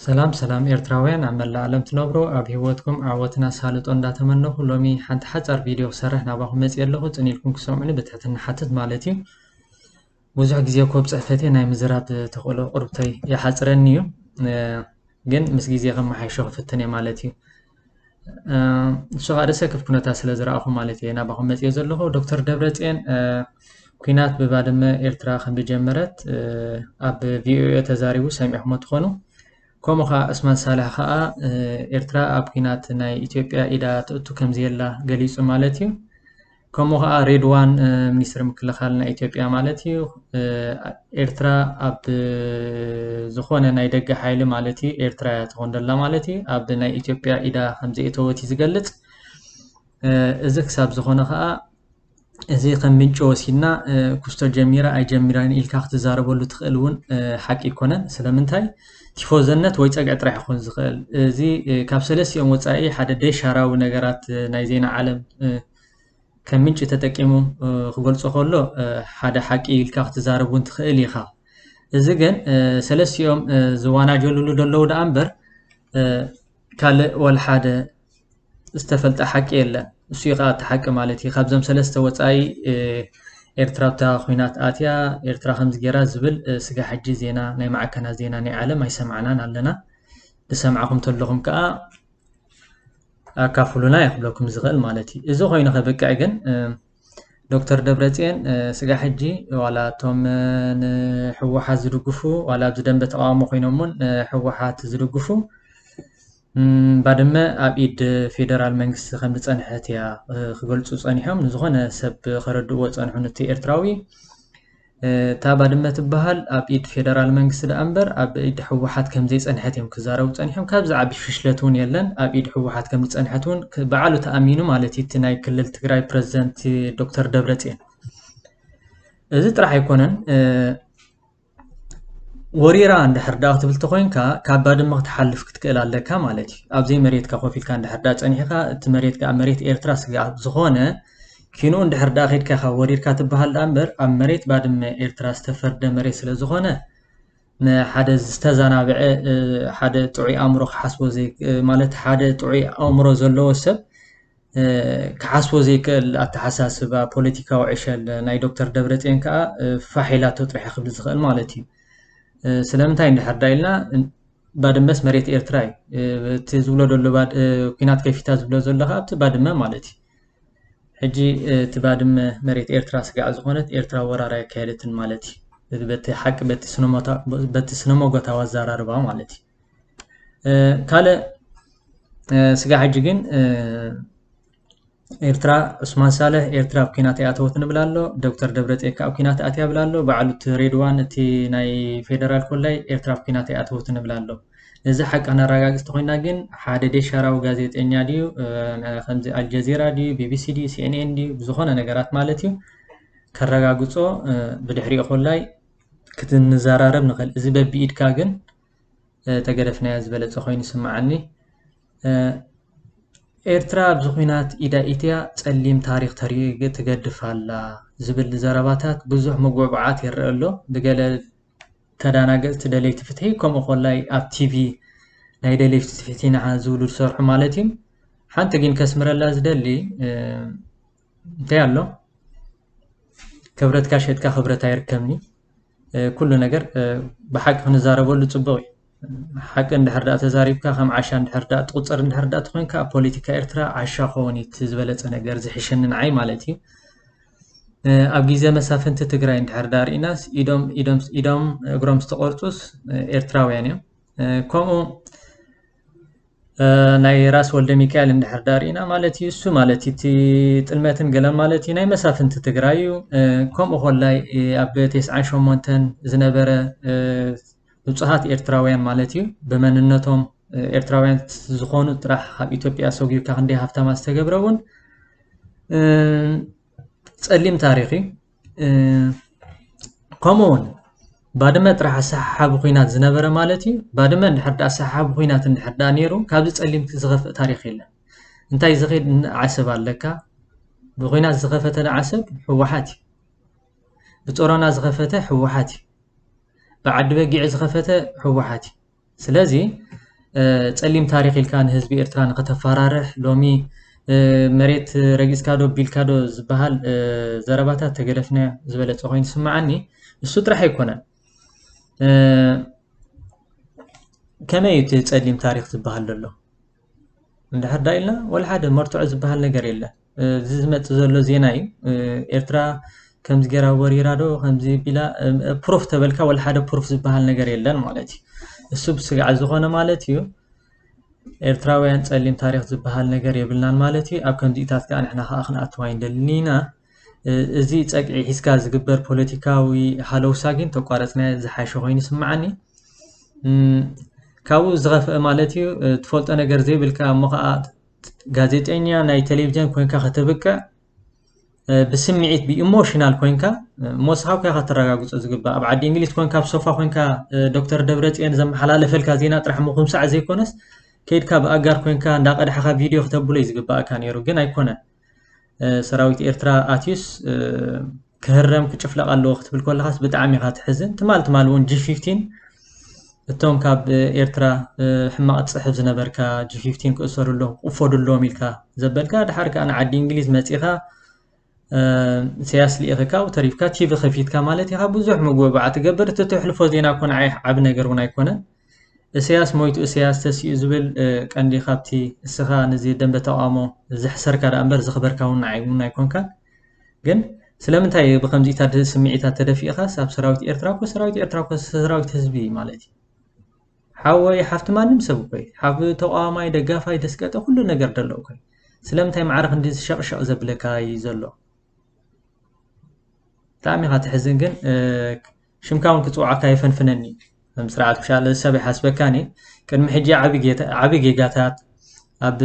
ሰላም ሰላም ኤርትራውያን ኣብ መላእ ዓለም ትነብሩ፣ ኣብ ህይወትኩም ዓወትን ኣሳልጦን እንዳተመነኹ፣ ሎሚ ሓንቲ ሓጻር ቪድዮ ክሰርሕ ናባኹም መጺኤ ኣለኹ። ጽን ኢልኩም ክሰምዑኒ ብትሕትና ሓትት ማለት እዩ። ብዙሕ ግዜ እኮ ኣብ ጽሕፈተይ ናይ ምዝራብ ተኽእሎ ቁርብተይ ይሓጽረኒ እዩ። እ፣ ግን ምስ ግዜ ከመሓይሾ ክፍትን እየ ማለት እዩ። እ፣ ንሱ ኸኣ ደሰክፍ ኩነታት ስለ ዝረኣኹ ማለት እየ ናባኹም መጺኤ ዘለኹ። ዶክተር ደብረጽዮን፣ እ፣ ኲናት ብባድመ ኤርትራ ከም ዝጀመረት፣ እ፣ ኣብ ቪኦኤ ተዛሪቡ ሰሚዕኹሞ ትኾኑ። ከምኡ ኸኣ ዑስማን ሳልሕ ኸኣ፣ እ፣ ኤርትራ ኣብ ኲናት ናይ ኢትዮጵያ ኢዳ ትእቱ ከም ዘየላ ገሊጹ ማለት እዩ። ከምኡ ኸኣ ሬድዋን፣ እ፣ ሚኒስትሪ ምክልኻል ናይ ኢትዮጵያ ማለት እዩ፣ እ፣ ኤርትራ ኣብ ዝኾነ ናይ ደገ ሓይሊ ማለት እዩ፣ ኤርትራ እያ ትኾን ዘላ ማለት እዩ፣ ኣብ ናይ ኢትዮጵያ ኢዳ ከም ዘየእተወት እዩ ዝገልጽ። እ፣ እዚ ክሳብ ዝኾነ ኸኣ፣ እዚ ከም ምንጪ ወሲድና፣ እ፣ ኩስቶ ጀሚራ ኣይጀሚራን ኢልካ ክትዛረበሉ ትኽእል እውን፣ እ፣ ሓቂ ኣይኮነን። ስለምንታይ? ቲፎዘነት ወይ ጸግዒ ጥራሕ ይኾን ዝኽእል። እዚ፣ እ፣ ካብ ሰለስቲኦም ወጻኢ ሓደ ደሻራዊ ነገራት፣ እ፣ ናይ ዜና ዓለም፣ እ፣ ከም ምንጪ ተጠቂሙ፣ እ፣ ክገልጾ ከሎ፣ እ፣ ሓደ ሓቂ ኢልካ ክትዛረብ እውን ትኽእል ኢኻ። እዚ ግን፣ እ፣ ሰለስቲኦም፣ እ፣ ዝዋናጀሉሉ ዘለዉ ደኣ እምበር፣ እ፣ ካልእ ወላ ሓደ ዝተፈልጠ ሓቂ የለን። እሱ እዩ ኸኣ እቲ ሓቂ ማለት እዩ። ካብዞም ሰለስተ ወጻኢ፣ እ፣ ኤርትራ ኣብታ ኲናት ኣትያ፣ ኤርትራ ከምዚ ገይራ ዝብል፣ እ፣ ስጋ ሕጂ ዜና፣ ናይ ማዕከናት ዜና ናይ ዓለም ኣይሰማዕናን ኣለና። ዝሰማዕኹም ተለኹም ከኣ ኣካፍሉና እየ ክብለኩም ዝኽእል ማለት እዩ። እዚ ኮይኑ ከብቅዕ ግን፣ እ፣ ዶክተር ደብረጽዮን፣ እ፣ ስጋ ሕጂ ዋላ እቶም፣ እ፣ ንህወሓት ዝድግፉ፣ ዋላ ኣብዚ ደንበ ተቃውሞ ኮይኖም እውን፣ እ፣ ህወሓት ዝድግፉ፣ እም፣ ባድመ ኣብ ኢድ ፌደራል መንግስቲ ከም ዝጸንሐት እያ፣ እ፣ ክገልጹ ጸኒሖም። ንዝኾነ ሰብ ከረድእዎ ጸንሑ፣ ነቲ ኤርትራዊ። እ፣ እታ ባድመ ትበሃል ኣብ ኢድ ፌደራል መንግስቲ ደኣ እምበር ኣብ ኢድ ህወሓት ከም ዘይጸንሐት እዮም ክዛረቡ ጸኒሖም። ካብ ዝዓቢ ፍሽለት እውን የለን። ኣብ ኢድ ህወሓት ከም ዝጸንሐት እውን ክ-፣ በዓሉ ተኣሚኑ ማለት እዩ፣ እቲ ናይ ክልል ትግራይ ፕረዚደንት ዶክተር ደብረጽዮን። እዚ ጥራሕ ኣይኮነን፣ እ፣ ወሪራ እንድሕር ደኣ ክትብል ተኾይንካ፣ ካብ ባድመ ክትሓልፍ ክትክእል ኣለካ ማለት እዩ። ኣብዘይ መሬትካ ኮፍ ኢልካ እንድሕር ደኣ ጸኒሕካ፣ እቲ መሬት ከኣ መሬት ኤርትራ ስጋብ ዝኾነ፣ ኪንኡ እንድሕር ደኣ ኸይድካ ኢኻ ወሪርካ ትበሃል ደኣ እምበር፣ ኣብ መሬት ባድመ ኤርትራ ዝተፈርደ መሬት ስለ ዝኾነ፣ ንሓደ ዝተዛናብዐ፣ እ፣ ሓደ ጥዑይ ኣእምሮ ክሓስቦ ዘይ-፣ እ፣ ማለት ሓደ ጥዑይ ኣእምሮ ዘለዎ ሰብ፣ እ፣ ክሓስቦ ዘይክእል ኣተሓሳስባ ፖለቲካዊ ዕሸል ናይ ዶክተር ደብረጽዮን ከኣ፣ እ፣ ፋሕ ኢላቶ ጥራሕ ክብል ዝኽእል ማለት እዩ። እ፣ ስለምንታይ እንድሕር ዳ ኢልና፣ እ፣ ባድመስ መሬት ኤርትራ እዩ። እ፣ እቲ ዝብሎ ዘሎ ባድ-፣ እ፣ ኲናት ከፊታ ዝብሎ ዘሎ ከኣ ኣብቲ ባድመ ማለት እዩ። ሕጂ፣ እ፣ እቲ ባድመ መሬት ኤርትራ ስጋዕ ዝኾነት ኤርትራ ወራር ኣየካየደትን ማለት እዩ። በቲ ሓቂ፣ በቲ ስነሞታ-፣ በቲ ስነመጎታዊ ኣዘራርባ ማለት እዩ። እ፣ ካልእ፣ እ፣ ስጋዕ ሕጂ ግን፣ እ፣ ኤርትራ፣ ዑስማን ሳልሕ፣ ኤርትራ ኣብ ኲናት ኣይኣተወትን ይብል ኣሎ። ዶክተር ደብረጽዮን ከኣ ኣብ ኲናት ኣትያ ይብል ኣሎ። በዓሉ እቲ ሬድዋን፣ እቲ ናይ ፌደራል ኮላይ፣ ኤርትራ ኣብ ኲናት ኣይኣተወትን ይብል ኣሎ። ነዚ ሓቂ ክነረጋግጽ ተኾይና ግን፣ ሓደ ደሻራዊ ጋዜጠኛ ድዩ፣ እ፣ ከምዚ ኣልጀዚራ ድዩ፣ ቢቢሲ ድዩ፣ ሲኤንኤን ድዩ፣ ብዝኾነ ነገራት ማለት እዩ፣ ከረጋግጾ፣ እ፣ ብድሕሪኡ ኮላይ ክትንዘራረብ ንኽእል። እዚ በቢኢድካ ግን፣ እ፣ ተገደፍናዮ ዝበለጸ ኮይኑ ይስምዓኒ። እ፣ ኤርትራ ኣብዚ ኲናት ኢዳ ኢትያ ጸሊም ታሪኽ ተሪ-፣ ትገድፍ ኣላ ዝብል ዘረባታት ብዙሕ ምጉዕዓት ይረአ ኣሎ። ብገለ ተዳናገጽቲ ደለይቲ ፍትሒ፣ ከምኡ ኮላይ ኣብ ቲቪ ናይ ደለይቲ ፍትሒ ኢና ዝብሉ ዝሰርሑ ማለት እዩ። ሓንቲ ግን ከስምረላ ዝደሊ፣ እ፣ እንታይ ኣሎ? ክብረትካ ሸጥካ ክብረት ኣይርከብኒ። እ፣ ኩሉ ነገር፣ እ፣ ብሓቂ ክንዛረበሉ ጽቡቕ እዩ። ሓቂ እንድሕር ደኣ ተዛሪብካ፣ ከም ዓሻ እንድሕር ደኣ ትቑጸር እንድሕር ደኣ ተኾይንካ፣ ኣብ ፖለቲካ ኤርትራ ዓሻ ክኸውን እዩ እቲ ዝበለጸ ነገር፣ ዝሕሸኒ ንዓይ ማለት እዩ። እ፣ ኣብ ግዜ መሳፍንቲ ትግራይ እንድሕር ደኣ ርኢናስ፣ ኢዶም፣ ኢዶም፣ ኢዶም እግሮም ዝተቖርጹስ፣ እ፣ ኤርትራውያን እዮም። እ፣ ከምኡ፣ እ፣ ናይ ራስ ወልደ ሚካኤል እንድሕር ደኣ ርኢና ማለት እዩ፣ እሱ ማለት እዩ፣ እቲ ጥልመትን ገለን ማለት እዩ፣ ናይ መሳፍንቲ ትግራይ እዩ። እ፣ ከምኡ ኮላይ፣ እ፣ ኣብ ተስዓን ሸሞንተን ዝነበረ፣ እ፣ ንጹሃት ኤርትራውያን ማለት እዩ፣ ብመንነቶም፣ እ፣ ኤርትራውያን ዝኾኑ ጥራሕ ካብ ኢትዮጵያ ሰጒግካ ክንደይ ሃፍታማት ዝተገብረ እውን፣ እ፣ ጸሊም ታሪኽ እዩ። እ፣ ከምኡ እውን ባድመ ጥራሕ ኣሰሓሓቢ ኲናት ዝነበረ ማለት እዩ። ባድመ እንድሕር ደኣ ኣሰሓሓቢ ኲናት እንድሕር ደኣ ነይሩ፣ ካብዚ ጸሊም ዝኸፍእ ታሪኽ የለን። እንታይ ዝኸይድ ዓሰብ ኣለካ? ብኲናት ዝኸፈተ ዓሰብ ህወሓት እዩ። ብጾሮና ዝኸፈተ ህወሓት እዩ። ብዓዲ በጊዕ ዝኸፈተ ህወሓት እዩ። ስለዚ ጸሊም ታሪኽ ኢልካ ንህዝቢ ኤርትራ ንኸተፈራርሕ፣ ሎሚ መሬት ረጊጽካ ዶ ቢልካ ዶ ዝበሃል ዘረባታት ተገደፍናዮ ዝበለጸ ኮይኑ ይስምዓኒ። እሱ ጥራሕ ኣይኮነን። ከመይ እዩ እቲ ጸሊም ታሪኽ ዝበሃል ዘሎ? እንድሕር ዳ ኢልና ወላ ሓደ መርትዖ ዝበሃል ነገር የለን። እዚ ዝመጽእ ዘሎ ዜና እዩ። ኤርትራ ከምዚ ገይራ ወሪራ ዶ ከምዚ ቢላ ፕሩፍ ተበልካ ወላ ሓደ ፕሩፍ ዝበሃል ነገር የለን ማለት እዩ። እሱ ብስግዓት ዝኾነ ማለት እዩ። ኤርትራውያን ጸሊም ታሪኽ ዝበሃል ነገር የብልናን ማለት እዩ። ኣብ ከምዚታት ከኣ ንሕና ከኣ ክንኣትዋ ኣይንደልን ኢና። እዚ ጸግዒ ሒዝካ ዝግበር ፖለቲካዊ ሃለውሳ ግን ተቋረጽናዮ ዝሓሸ ኮይኑ ይስምዓኒ። ካብኡ ዝኸፍአ ማለት እዩ ትፈልጦ ነገር ዘይብልካ እሞ ከኣ ጋዜጠኛ ናይ ቴሌቪዥን ኮንካ ከተብቅዕ ብስምዒት ብኢሞሽናል ኮንካ ሞስኻ ኮንካ ከተረጋግጾ ዝግባእ። ኣብ ዓዲ እንግሊዝ ኮንካ ኣብ ሶፋ ኮንካ ዶክተር ደብረጽዮን ዘመሓላለፈልካ ዜና ጥራሕ ምኹምሳዕ ዘይኮነስ ከይድካ ብኣጋር ኮንካ እንዳቐዳሕኻ ቪድዮ ክተብሎ እዩ ዝግባእካ ነይሩ፣ ግን ኣይኮነን። ሰራዊት ኤርትራ ኣትዩስ ክህረም ክጭፍለቕ ኣለዎ ክትብል ከለኻስ ብጣዕሚ ኢኻ ትሕዝን። ትማል ትማል እውን ጂ ፊፍቲን እቶም ካብ ኤርትራ ሕማቕ ትጽሕፍ ዝነበርካ ጂ ፊፍቲን ክእሰሩ ኣለዎም ክቕፈዱ ኣለዎም ኢልካ ዘበልካ፣ ድሓር ከኣ ንዓዲ እንግሊዝ መጺኻ ኢሳያስ ልኢኽካ ኣብኡ ተሪፍካ ቲቪ ከፊትካ ማለት ኢኻ ብዙሕ መጉበባዓ ትገብር። እቲ ትሕልፎ ዜና እኮ ንዓይ ዓቢ ነገር እውን ኣይኮነን። ኢሳያስ ሞይቱ ኢሳያስ ተሲኡ ዝብል ቀንዲ ካብቲ እስኻ ነዚ ደንበ ተቃውሞ ዘሕሰርካ ደኣ እምበር ዘኽበርካ እውን ንዓይ እውን ኣይኮንካን። ግን ስለምንታይ ብከምዚታት ስምዒታት ተደፊእኻ ኣብ ሰራዊት ኤርትራ እኮ ሰራዊት ኤርትራ እኮ ሰራዊት ህዝቢ ማለት እዩ። ሓወይ ሓፍቲ ማንም ሰብ እኮ እዩ። ሓብ ተቃዋማይ ደጋፋይ ደስቀጠ ኩሉ ነገር ደሎ እኮ እዩ። ስለምንታይ ማዕረ ክንዲ ዝሸቕሸቕ ዘብለካ እዩ ዘሎ? ብጣዕሚ ኢኻ ትሕዝን ግን ሽምካ እውን ክፅውዓካ የፈንፍነኒ። ከም ስርዓት ምሻለ ሰብ ይሓስበካኒ። ቅድሚ ሕጂ ዓቢ ጌጋታት ኣብ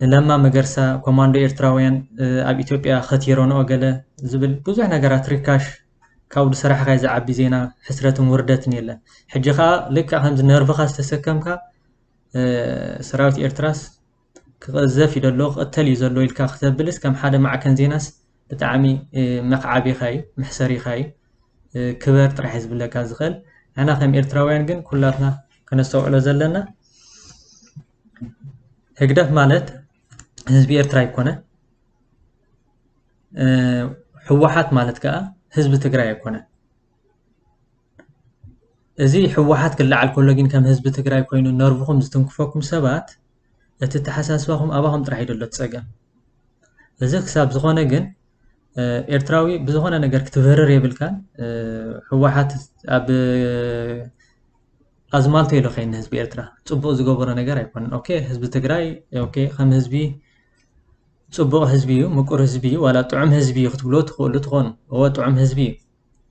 ንለማ መገርሳ ኮማንዶ ኤርትራውያን ኣብ ኢትዮጵያ ከቲረንኦ ገለ ዝብል ብዙሕ ነገራት ርካሽ ካብኡ ዝሰራሕካይ ዝዓቢ ዜና ሕስረትን ውርደትን የለን። ሕጂ ከዓ ልክዕ ከምዚ ነርቭኻ ዝተሰከምካ ሰራዊት ኤርትራስ ክቐዘፍ እዩ ዘሎ ክቕተል እዩ ዘሎ ኢልካ ክተብልስ ከም ሓደ ማዕከን ዜናስ ብጣዕሚ መኽዓቢኻ እዩ መሕሰሪኻ እዩ። ክበር ጥራሕ እዩ ዝብለካ ዝኽእል። ንሕና ከም ኤርትራውያን ግን ኩላትና ከነስተውዕሎ ዘለና ህግደፍ ማለት ህዝቢ ኤርትራ ኣይኮነ። ህወሓት ማለት ከዓ ህዝቢ ትግራይ ኣይኮነ። እዚ ህወሓት ክለዓል ከሎ ግን ከም ህዝቢ ትግራይ ኮይኑ ነርቭኹም ዝትንክፈኩም ሰባት እቲ ተሓሳስባኹም ኣባኹም ጥራሕ እዩ ዘሎ እቲ ፀገም። እዚ ክሳብ ዝኾነ ግን ኤርትራዊ ብዝኾነ ነገር ክትብህርር የብልካን። ህወሓት ኣብ ኣዝማልቶ ኢሎ ከይኒ ህዝቢ ኤርትራ ፅቡቕ ዝገበሮ ነገር ኣይኮነን። ኦኬ ህዝቢ ትግራይ ኦኬ ከም ህዝቢ ፅቡቕ ህዝቢ እዩ፣ ምቁር ህዝቢ እዩ፣ ዋላ ጥዑም ህዝቢ እዩ ክትብልዎ ትኽእሉ ትኾኑ። እወ ጥዑም ህዝቢ እዩ።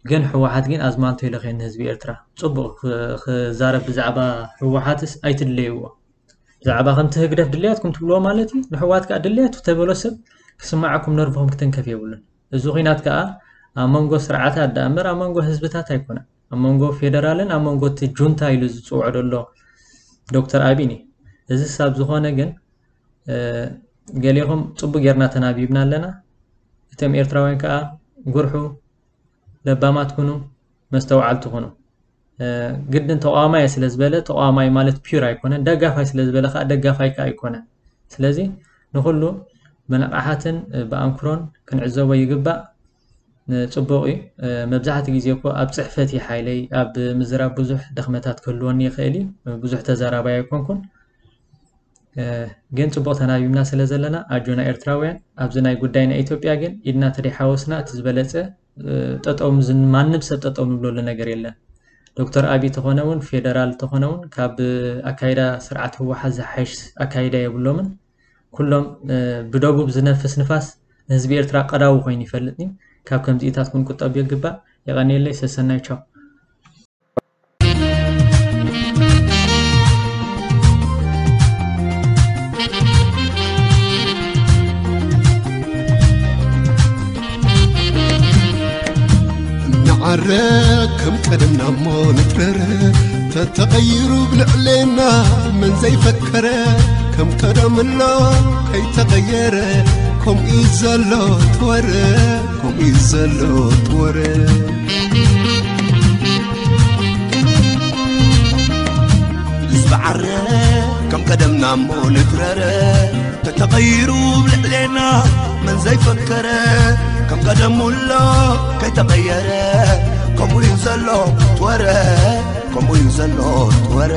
ግን ህወሓት ግን ኣዝማልቶ ኢሎ ከይኒ ህዝቢ ኤርትራ ፅቡቕ ክዛረብ ብዛዕባ ህወሓትስ ኣይትድለይዎ። ብዛዕባ ከምቲ ህግደፍ ድልያትኩም ትብልዎ ማለት እዩ። ንሕዋት ከዓ ድልያቱ ተበሎ ሰብ ክስማዓኩም ነርቭኹም ክትንከፍ የብሉን። እዚ ኹናት ከዓ ኣብ መንጎ ስርዓታት ደኣ እምበር ኣብ መንጎ ህዝብታት ኣይኮነን። ኣብ መንጎ ፌደራልን ኣብ መንጎ እቲ ጁንታ ኢሉ ዝፅውዖ ዘሎ ዶክተር ኣቢን እዩ። እዚ ሳብ ዝኾነ ግን ገሌኹም ፅቡቅ ጌርና ተናቢብና ኣለና። እቶም ኤርትራውያን ከዓ ጉርሑ ለባማት ኩኑ፣ መስተውዓልቲ ኩኑ። ግድን ተቃዋማይ ስለ ዝበለ ተቃዋማይ ማለት ፒር ኣይኮነን፣ ደጋፋይ ስለ ዝበለ ከዓ ደጋፋይ ከዓ ኣይኮነን። ስለዚ ንኩሉ ብንቕሓትን ብኣንክሮን ክንዕዘቦ ይግባእ። ጽቡቕ እዩ። መብዛሕትኡ ግዜ እኮ ኣብ ጽሕፈት እዩ ሓይለይ፣ ኣብ ምዝራብ ብዙሕ ድኽመታት ክህልወኒ ይኽእል እዩ። ብዙሕ ተዛራባይ ኣይኮንኩን። ግን ጽቡቕ ተናቢብና ስለ ዘለና ኣጆና ኤርትራውያን። ኣብዚ ናይ ጉዳይ ናይ ኢትዮጵያ ግን ኢድና ተደይሓወስና እቲ ዝበለጸ ጠጠው ማንም ሰብ ጠጠው ንብለሉ ነገር የለን። ዶክተር ኣቢ ተኾነ እውን ፌደራል ተኾነ እውን ካብ ኣካይዳ ስርዓት ህወሓት ዝሓይሽ ኣካይዳ የብሎምን። ኩሎም ብደቡብ ዝነፍስ ንፋስ ንህዝቢ ኤርትራ ቀዳዊ ኮይኑ ይፈልጥ እዩ። ካብ ከምዚኢታት ክንቁጠብ ይግባእ። የቐንየለይ። ሰሰናዩ። ቻው። ንዓረ ከም ቀደምና እሞ ንጥረረ ተተቐይሩ ብልዕሌና መን ዘይፈከረ ከም ቀደምሎ ከይተቐየረ ከምኡ እዩ ዘሎ ትወረ ከምኡ እዩ ዘሎ ትወረ ብዓረ ከም ቀደምና እሞ ንትረረ ተተቐይሩ ብልዕሌና መን ዘይፈከረ ከም ቀደሙ ኣሎ ከይተቐየረ ከምኡ እዩ ዘሎ ትወረ ከምኡ እዩ ዘሎ ትወረ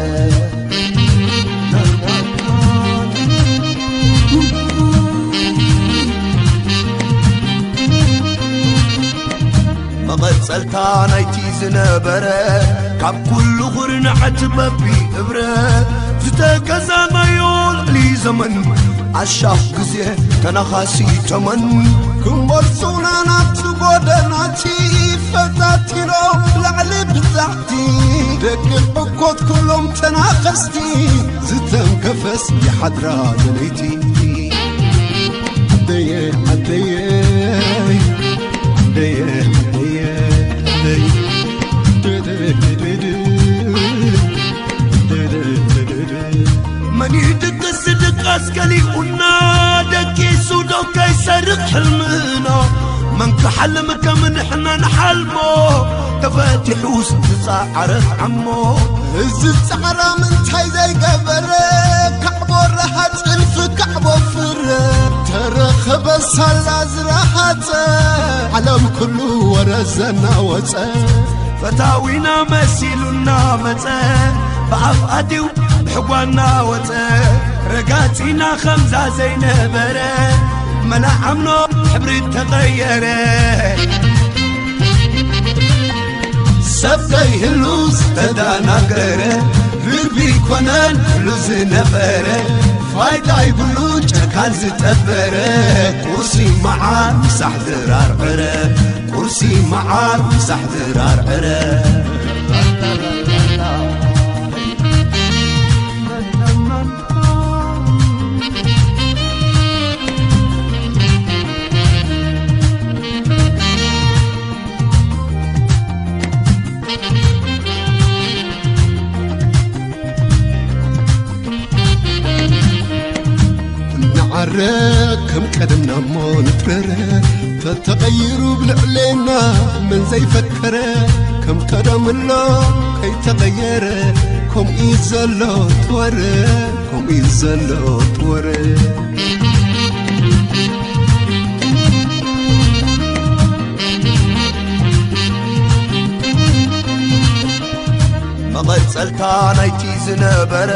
መቐጸልታ ናይቲ ዝነበረ ካብ ኩሉ ኹርናዓት በቢ እብረ ዝተገዛናዮ ልዕሊ ዘመን ኣሻፍ ግዜ ተናኻሲ ተመን ክንበርሱና ናብቲ ጎደናቲ ፈታቲኖም ብላዕሊ ብታሕቲ ደቂ ዕኮት ኩሎም ተናኸስቲ ዝተንከፈስ ይሓድራ ለለይቲ ዓደየ ዓደየ ዓደየ ዓደየ መን ይድቅስ ድቃስ ከሊኡና ደቂሱ ዶ ከይሰርቕ ሕልምና መን ክሓልም ከም ንሕና ንሓልሞ ተፈቲሑስ ዝጸዓረት ዓሞ እዚ ጻዕራም እንታይ ዘይገበረ ካዕቦ ረሃ ጽንፊ ካዕቦ ፍረ ተረኸበ ሳላ ዝረሃጸ ዓለም ኩሉ ወረ ዘናወጸ ፈታዊና መሲሉና መጸ ብኣፍ ኣትዩ ብሕጓና ወጸ ረጋጺና ከምዛ ዘይነበረ መናዓምኖ ሕብሪ ተቐየረ ሰብ ከይህሉ ዝተዳናገረ ርግቢ ኮነን ኩሉ ዝነበረ ፋይዳ ይብሉ ጨካን ዝጠበረ ቁርሲ መዓር ምሳሕ ዝራርዕረ ቁርሲ መዓር ምሳሕ ዝራርዕረ ንዓረ ከም ቀደምና እሞ ንትረረ ተተቐይሩ ብልዕሌና መን ዘይፈከረ ከም ቀደም ኣሎ ከይተቐየረ ከምኡ እዩ ዘሎ ትወረ ከምኡ እዩ ዘሎ ትወረ መቐጸልታ ናይቲ ዝነበረ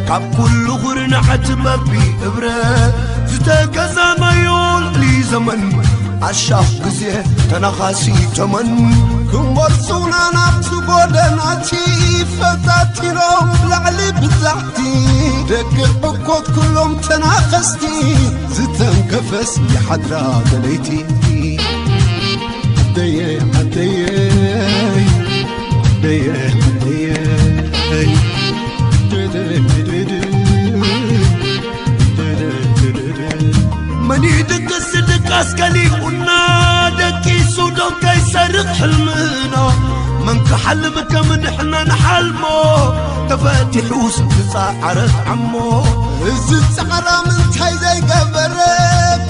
ካብ ኩሉ ኹርናዓት በቢ እብረ ዝተገዛናዮ ልዕሊ ዘመን ኣሻፍ ግዜ ተናኻሲ ተመን ክመርጹና ናብቲ ጎደናቲ ፈታቲኖም ብላዕሊ ብታሕቲ ደቂ ዕኮት ኩሎም ተናኸስቲ ዝተንከፈስ ይሓድራ በለይቲ ዓደየ ዓደየ ዓደየ ዓደየ መን ይድቅስ ድቃስ ከሊኡና ደቂሱ ዶ ከይሰርቕ ሕልምና መን ክሓልም ከም ንሕና ንሓልሞ ተፈቲሑስ ዝጸዓረት ዓሞ እዚ ጻዕራም እንታይ ዘይገበረ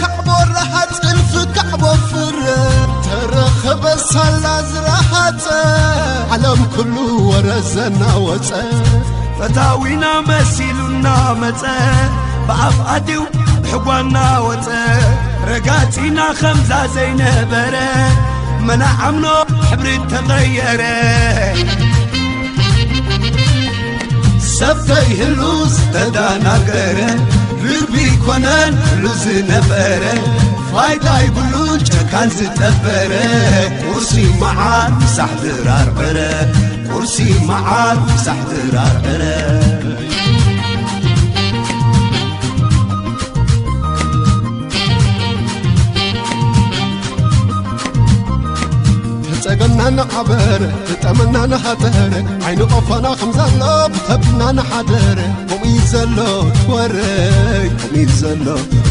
ካዕቦ ረሃ ጽንፊ ካዕቦ ፍረ ተረኸበ ሳላ ዝረሃጸ ዓለም ኩሉ ወረ ዘናወጸ ፈታዊና መሲሉና መጸ ብኣፍ ኣትዩ ብሕጓና ወጸ ረጋጺና ከምዛ ዘይነበረ መናዓምኖ ሕብሪ ተቐየረ ሰብ ከይህሉ ዝተዳናገረ ርግቢ ኮነን ኩሉ ዝነበረ ፋይዳ ይብሉን ጨካን ዝጠበረ ቁርሲ መዓር ምሳሕ ዝራርዕረ ቁርሲ መዓር ምሳሕ ዝራርዕረ ተጸገምና ንዓበር ተጠመና ንሃተር ዓይኒ ቆፎና ከም ዘሎ ብኸብድና ንሓደር ከምኡ እዩ ዘሎ ትወረይ ከምኡ እዩ ዘሎ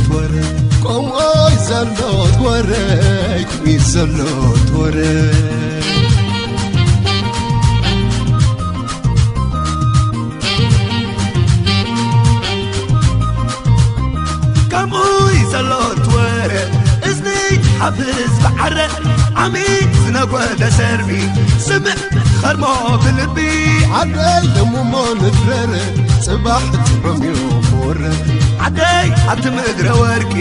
ትወረይ ከምኡ እዩ ዘሎ ትወረይ ከምኡ እዩ ዘሎ ትወረይ ከምኡ እዩ ዘሎ ትወረ እዝኒ ሓፍዝ ብዓረ ዓሚ ዝነጎደ ሰርቢ ስምዕ ኸርሞ ብልቢ ዓደይ ደሙሞ ንድረር ጽባሕ ጥዑም እዩ ክወርድ ዓደይ ኣብቲ ምድረ ወርቂ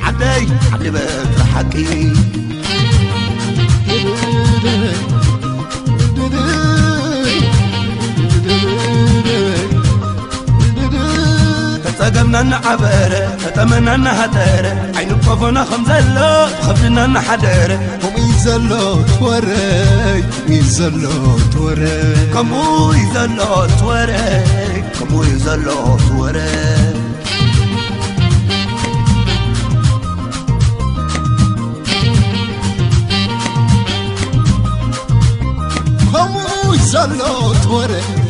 ዓደይ ዓዲ በትሪ ሓቂ ተጸገምና እናዓበረ ተጠመና እናሃጠረ ዓይኒ ቆፎና ከም ዘሎ ኸብድና እናሓደረ ከምኡ እዩ ዘሎ ትወረይ ከምኡ እዩ ዘሎ ትወረይ ከምኡ እዩ ዘሎ ትወረይ ከምኡ እዩ ዘሎ ትወረይ ከምኡ እዩ ዘሎ ትወረይ